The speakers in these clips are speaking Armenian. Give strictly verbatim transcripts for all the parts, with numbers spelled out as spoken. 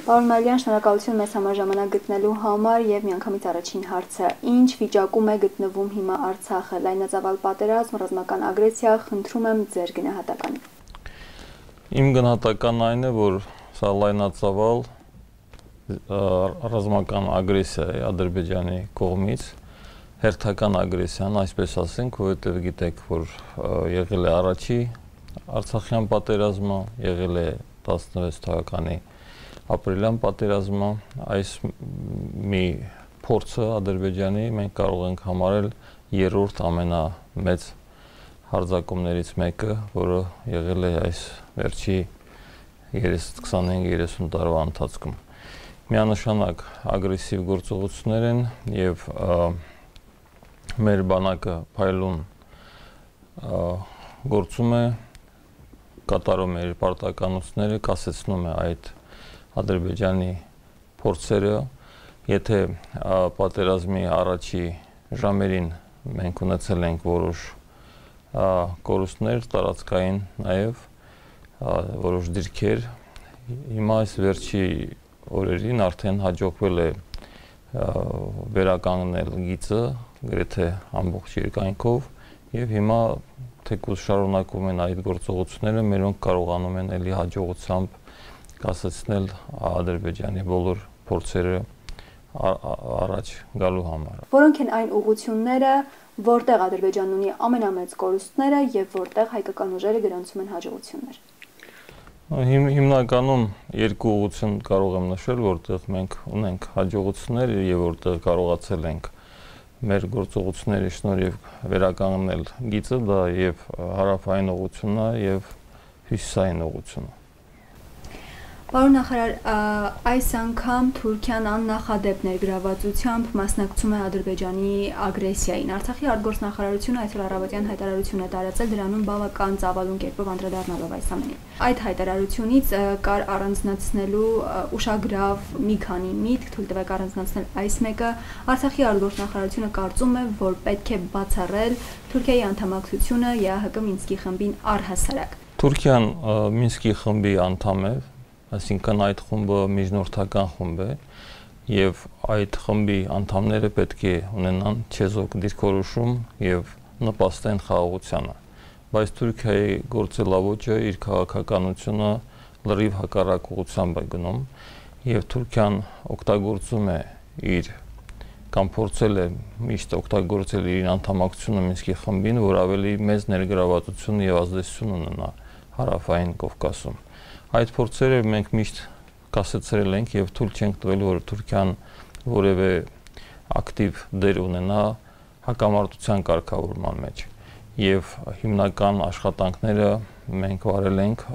Պարոն Մալյան, շնորհակալություն մեզ համար ժամանակ գտնելու համար եւ միանգամից առաջին հարցը. ինչ վիճակում է գտնվում հիմա Արցախը, լայնածավալ պատերազմ, ռազմական ագրեսիա, խնդրում եմ ձեր գնահատականը։ Իմ գնահատականն այն է, որ սա լայնածավալ ռազմական ագրեսիա է Ադրբեջանի կողմից, հերթական ագրեսիան, այսպես ասենք, որովհետև գիտեք, որ եղել է առաջի Արցախյան պատերազմը, եղել է տասնվեց թվականի ապրիլյան պատերազմը, այս մի փորձը Ադրբեջանի մենք կարող ենք համարել երրորդ ամենամեծ հարձակումներից մեկը, որը եղել է այս վերջի քսանհինգ երեսուն տարվա ընթացքում։ Միանշանակ ագրեսիվ գործողություններ են եւ մեր բանակը փայլուն գործում է, կատարում է իր պարտականությունները, կասեցնում է այդ Ադրբեջանի փորձերը, եթե պատերազմի առաջի ժամերին մենք ունեցել ենք որոշ կորուստներ, տարածքային նաև որոշ դիրքեր, հիմա այս վերջի օրերին արդեն հաջողվել է վերականգնել գիծը գրեթե ամբողջ երկայնքով եւ հիմա թեկուզ շարունակում են այդ գործողությունները, մերոնք կարողանում են ելի հաջողությամբ կասեցնել Ադրբեջանի բոլոր փորձերը առաջ գալու համար։ Որոնք են այն ուղղությունները, որտեղ Ադրբեջանն ունի ամենամեծ կորուստները եւ որտեղ հայկական ուժերը գրանցում են հաջողություններ։ Հիմնականում երկու ուղղություն կարող եմ նշել, որտեղ մենք ունենք հաջողություններ եւ որտեղ կարողացել ենք մեր գործողությունների շնորհիվ վերականգնել գիծը, դա եւ հարավային ուղղությունն է եւ հյուսիսային ուղղությունը։ Պարոն նախարար, այս անգամ Թուրքիան աննախադեպ ներգրավվածությամբ մասնակցում է Ադրբեջանի ագրեսիային։ Արցախի արտգործնախարարությունը այսօր առավոտյան հայտարարություն է տարածել, դրանում բավական ծավալուն կերպով անդրադառնալով այս ամենին։ Այդ հայտարարությունից կար առանձնացնելու ուշագրավ մի քանի միտք, թույլ տվեք առանձնացնել այս մեկը։ Արցախի արտգործնախարարությունը կարծում է, որ պետք է բացառել Թուրքիայի անդամակցությունը ԵԱՀԿ Մինսկի խմբին առհասարակ։ Թուրքիան Մինսկի խմբի անդամ է, այսինքն այդ խումբը միջնորդական խումբ է եւ այդ խմբի անդամները պետք է ունենան չեզոք դիրքորոշում եւ նպաստեն խաղաղությանը, բայց Թուրքիայի գործելավոճը իր քաղաքականությունը լրիվ հակառակ ուղղությամբ է գնում եւ Թուրքիան օգտագործում է իր կամ փորձել է միշտ օգտագործել իր անդամակցությունը Մինսկի խմբին, որ ավելի մեծ ներգրավվածություն եւ ազդեցություն ունենա հարավային Կովկասում։ Այդ փորձերը մենք միշտ կասեցրել ենք եւ թույլ չենք տվել, որ Թուրքիան որևէ ակտիվ դեր ունենա հակամարտության կարգավորման մեջ։ Եվ հիմնական աշխատանքները մենք վարել ենք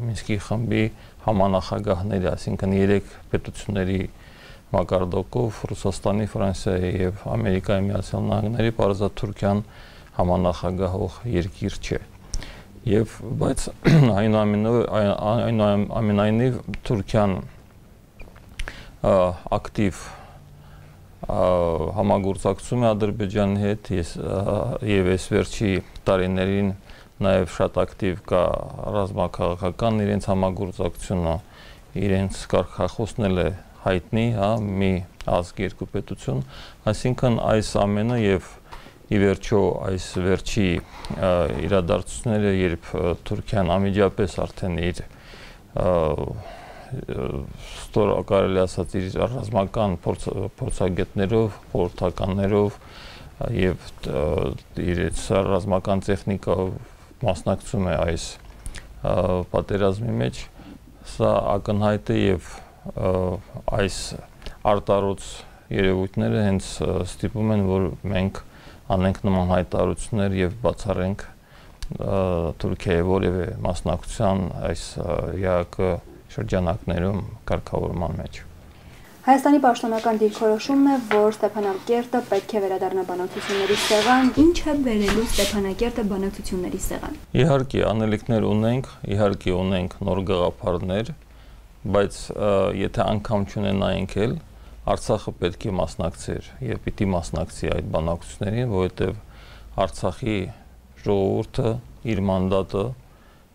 Մինսկի խմբի համանախագահների, այսինքն երեք պետությունների մակարդակով Ռուսաստանի, Ֆրանսիայի եւ Ամերիկայի Միացյալ Նահանգների, պարզա Թուրքիան համանախագահող երկիր չէ։ Եվ բայց այնուամենայնիվ Թուրքիան ակտիվ համագործակցում է Ադրբեջանի հետ եւ այս վերջի տարիներին նաեւ շատ ակտիվ կա ռազմաքաղաքական իրենց համագործակցությունը, իրենց կարգախոսնել է հայտնի, հա, մի ազգ երկու պետություն, այսինքն այս ամենը եւ ի վերջո այս վերջի իրադարձությունները, երբ Թուրքիան անմիջապես արդեն իր ստոր կարելի ասած իր ռազմական փորձագետներով, խորհրդականներով եւ իր ռազմական տեխնիկայով մասնակցում է այս պատերազմի մեջ, սա ակնհայտ է եւ այս արտարոց երևույթները հենց ստիպում են, որ մենք անենք նման հայտարարություններ եւ բացառենք Թուրքիայի որևէ մասնակցության այս ԵԱՀԿ շրջանակներում կարգավորման մեջ։ Հայաստանի պաշտոնական դիրքորոշումն է, որ Ստեփանակերտը պետք է վերադառնա բանակցությունների սեղան, ինչը բերելու Ստեփանակերտը բանակցությունների սեղան։ Իհարկե, անելիքներ ունենք, իհարկե ունենք նոր գաղափարներ, բայց եթե անգամ չունենայինք էլ Արցախը պետք է մասնակցեր եւ պիտի մասնակցի այդ բանակցություններին, որովհետեւ Արցախի ժողովուրդը իր մանդատը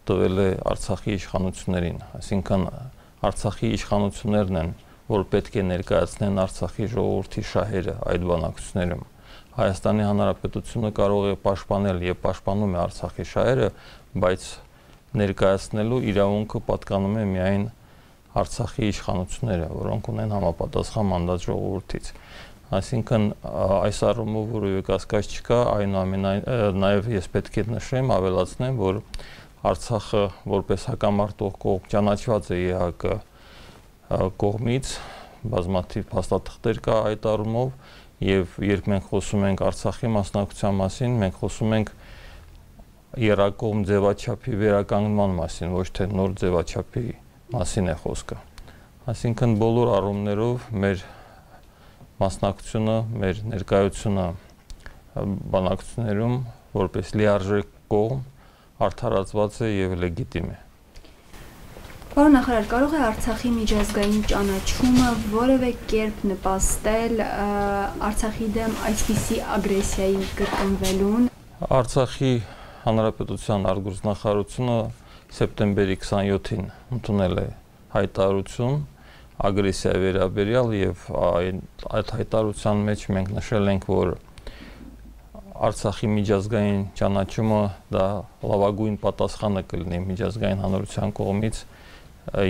տվել է Արցախի իշխանություններին, այսինքն Արցախի իշխանություններն են, որ պետք է ներկայացնեն Արցախի ժողովրդի շահերը այդ բանակցություններում։ Հայաստանի Հանրապետությունը կարող է պաշտպանել եւ պաշտպանում է Արցախի շահերը, բայց ներկայացնելու իրավունքը պատկանում է միայն Արցախի իշխանությունները, որոնք ունեն համապատասխան մանդատ ժողովրդից։ Այսինքն այս առումով որևէ կասկած չկա, այնուամենայնիվ նաեւ ես պետք է նշեմ, ավելացնեմ, որ Արցախը որպես հակամարտող կողմ ճանաչված է ԵԱՀԿ կողմից, բազմաթիվ փաստաթղթեր կա այդ առումով, եւ երբ մենք խոսում ենք Արցախի մասնակցության մասին, մենք խոսում ենք երակողմ ձևաչափի վերականգնման մասին, ոչ թե նոր ձևաչափի մասին է խոսքը։ Այսինքն բոլոր առումներով մեր մասնակցությունը, մեր ներկայությունը բանակցություններում որպես լիարժեք կողմ արդարացված է եւ լեգիտիմ է։ Պարոն նախարար, կարող է Արցախի միջազգային ճանաչումը որևէ կերպ նպաստել Արցախի դեմ այսպիսի ագրեսիայի կրկնվելուն։ Արցախի Հանրապետության արտգործնախարարությունը սեպտեմբերի քսանյոթին ընդունել է հայտարարություն ագրեսիայի վերաբերյալ եւ այդ հայտարարության մեջ մենք նշել ենք, որ Արցախի միջազգային ճանաչումը դա լավագույն պատասխանը կլինի միջազգային հանրության կողմից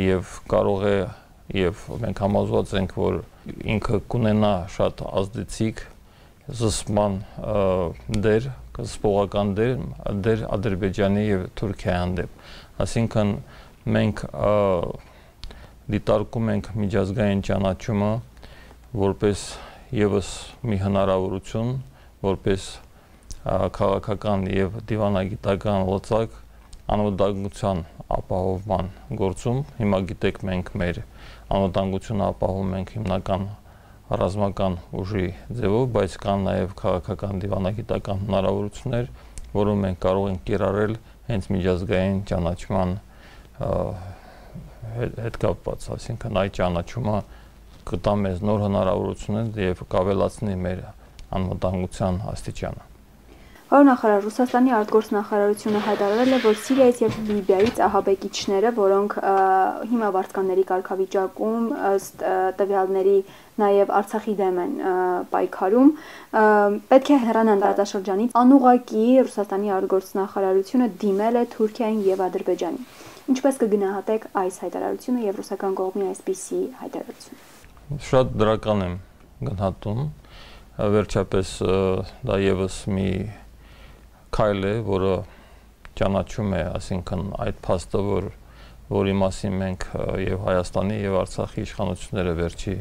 եւ կարող է եւ մենք համոզված ենք, որ ինքը կունենա շատ ազդեցիկ զսպման դեր, զսպողական դեր, դեր Ադրբեջանի եւ Թուրքիայի հանդեպ։ Այսինքն մենք դիտարկում ենք միջազգային ճանաչումը որպես եւս մի հնարավորություն, որպես քաղաքական եւ դիվանագիտական լծակ անվտանգության ապահովման գործում։ Հիմա գիտեք, մենք մեր անվտանգությունը ապահովում ենք հիմնական ռազմական ուժի ձևով, բայց կան նաեւ քաղաքական դիվանագիտական հնարավորություններ, որոնք մենք կարող ենք կիրառել հենց միջազգային ճանաչման հետ կապված, այսինքն այդ ճանաչումը կտա մեզ նոր հնարավորություններ եւ կավելացնի մեր անվտանգության աստիճանը։ Պարոն նախարար, Ռուսաստանի արտգործնախարարությունը հայտարարել է, որ Սիրիայից եւ Լիբիայից ահաբեկիչները, որոնք հիմա վարձկանների կարգավիճակում ըստ տվյալների նաեւ Արցախի դեմ են պայքարում, պետք է հեռանան տարածաշրջանից։ Անուղղակի Ռուսաստանի արտգործնախարարությունը դիմել է Թուրքիային եւ Ադրբեջանին։ Ինչպես կգնահատեք այս հայտարարությունը եւ ռուսական կողմի այսպիսի հայտարարությունը։ Շատ դրական եմ գնահատում։ Վերջապես դա եւս մի քայլ է, որը ճանաչում է, այսինքն այդ փաստը, որ որի մասին մենք եւ Հայաստանի եւ Արցախի իշխանությունները վերջի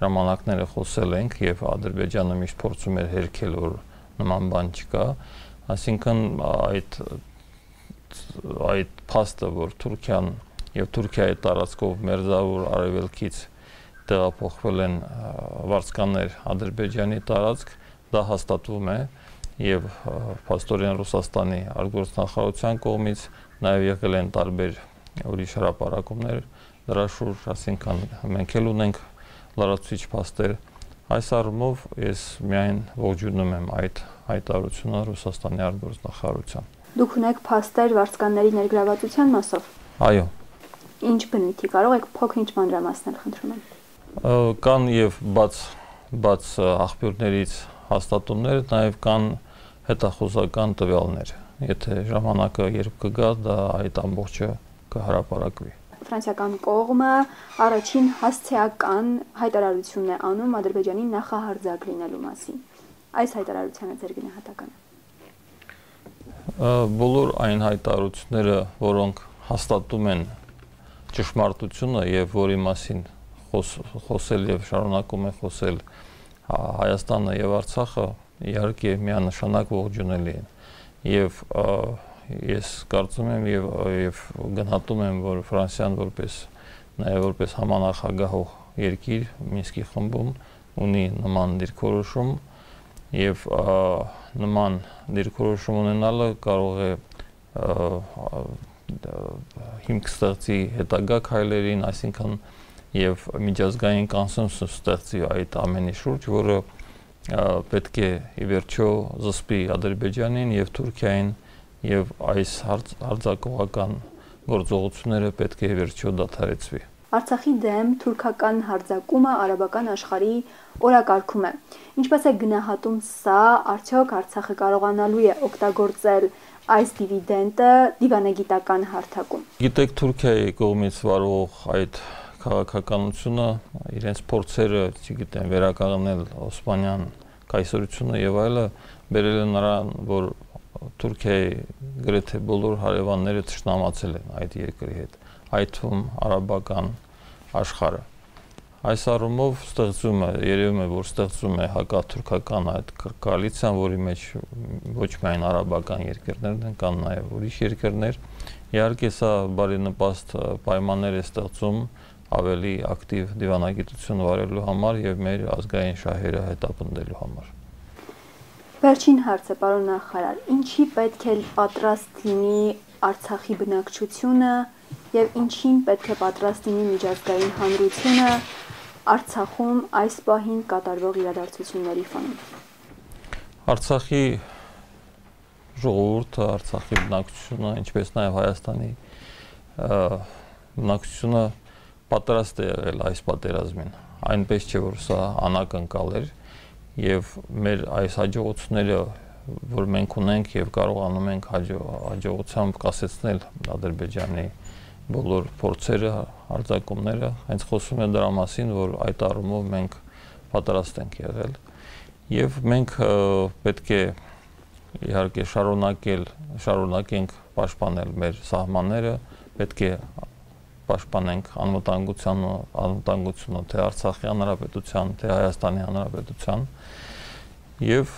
ժամանակները խոսել ենք եւ Ադրբեջանը միշտ փորձում էր հերքել, որ նման բան չկա, այսինքն այդ այդ փաստը, որ Թուրքիան եւ Թուրքիայի տարածքով մերձավոր արևելքից տեղափոխվել են վարձկաններ Ադրբեջանի տարածք, դա հաստատվում է եւ փաստորեն Ռուսաստանի արտգործնախարարության կողմից նաեւ եղել են տարբեր ուրիշ հրապարակումներ դրա շուրջ, այսինքն մենք էլ ունենք լրացուցիչ փաստեր։ Այս առումով ես միայն ողջունում եմ այդ հայտարարությունը Ռուսաստանի արտգործնախարարության։ Դուք ունեք փաստեր վարձկանների ներգրավվածության մասով։ Այո։ Ինչ բնույթի, կարող եք փոքր-ինչ մանրամասնել, խնդրում եմ։ Կան եւ բաց բաց աղբյուրներից հաստատումներ, նաեւ կան հետախուզական տվյալներ։ Եթե ժամանակը երբ կգա, դա այդ ամբողջը կհրապարակվի։ Ֆրանսիական կողմը առաջին հասցեական հայտարարությունն է անում Ադրբեջանի նախահարձակ լինելու մասին։ Այս հայտարարությանը ձեր գնահատականը։ Բոլոր այն հայտարարությունները, որոնք հաստատում են ճշմարտությունը եւ որի մասին խոսել եւ շարունակում է խոսել Հայաստանը եւ Արցախը, իհարկե միանշանակ ողջունելի են եւ ես կարծում եմ եւ եւ գնահատում եմ, որ Ֆրանսիան որպես նաեւ որպես համանախագահող երկիր Մինսկի խմբում ունի նման դիրքորոշում եւ նման դիրքորոշում ունենալը կարող է հիմք ստեղծի հետագա քայլերին, այսինքն եւ միջազգային կոնսենսուս ստեղծի այդ ամենի շուրջ, որը պետք է ի վերջո զսպի Ադրբեջանին եւ Թուրքիային եւ այս հարձակողական գործողությունները պետք է ի վերջո դադարեցվի։ Արցախի դեմ թուրքական հարձակումը արաբական աշխարհի օրակարգում է։ Ինչպես է գնահատում սա, արդյոք Արցախը կարողանալու է օգտագործել այս դիվիդենտը դիվանագիտական հարթակում։ Գիտեք, Թուրքիայի կողմից վարող այդ քաղաքականությունը իրենց փորձերը, չգիտեմ, վերականգնել Օսմանյան կայսրությունը եւ այլը բերել է նրան, որ Թուրքիայի գրեթե բոլոր հարևանները թշնամացել են այդ երկրի հետ, այդ թվում արաբական աշխարհը։ Այս առումով ստեղծում է, երևում է, որ ստեղծում է հակաթուրքական այդ կոալիցիան, որի մեջ ոչ միայն արաբական երկրներն են, կան նաև ուրիշ երկրներ։ Իհարկե սա բարենպաստ պայմաններ է ստեղծում ավելի ակտիվ դիվանագիտություն վարելու համար եւ մեր ազգային շահերը հետապնդելու համար։ Վերջին հարցը, պարոն նախարար, ինչի պետք է պատրաստ լինի Արցախի բնակչությունը եւ ինչին պետք է պատրաստ լինի միջազգային հանրությունը Արցախում այս պահին կատարվող իրադարձությունների ֆոնին։ Արցախի ժողովուրդը, Արցախի բնակչությունը, ինչպես նաեւ Հայաստանի բնակչությունը պատրաստ է եղել այս պատերազմին, այնպես չէ որ սա անակնկալ էր եւ մեր այս հաջողությունները, որ մենք ունենք եւ կարողանում ենք հաջողությամբ կասեցնել Ադրբեջանի բոլոր փորձերը, հարձակումները, հենց խոսում է դրա մասին, որ այդ առումով մենք պատրաստ ենք եղել եւ մենք պետք է իհարկե շարունակել, շարունակենք պաշտպանել մեր սահմանները, պետք է պաշտպանենք անվտանգության, անվտանգությունը թե Արցախի հանրապետության, թե Հայաստանի հանրապետության եւ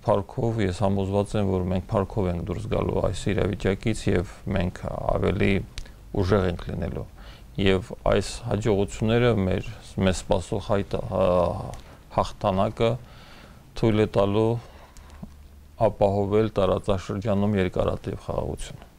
փառքով ես համոզված եմ, որ մենք փառքով ենք դուրս գալու այս իրավիճակից եւ մենք ավելի ուժեղ ենք լինելու եւ այս հաջողությունները մեր մեզ սպասող հաղթանակը թույլ է տալու ապահովել տարածաշրջանում երկարատև խաղաղություն։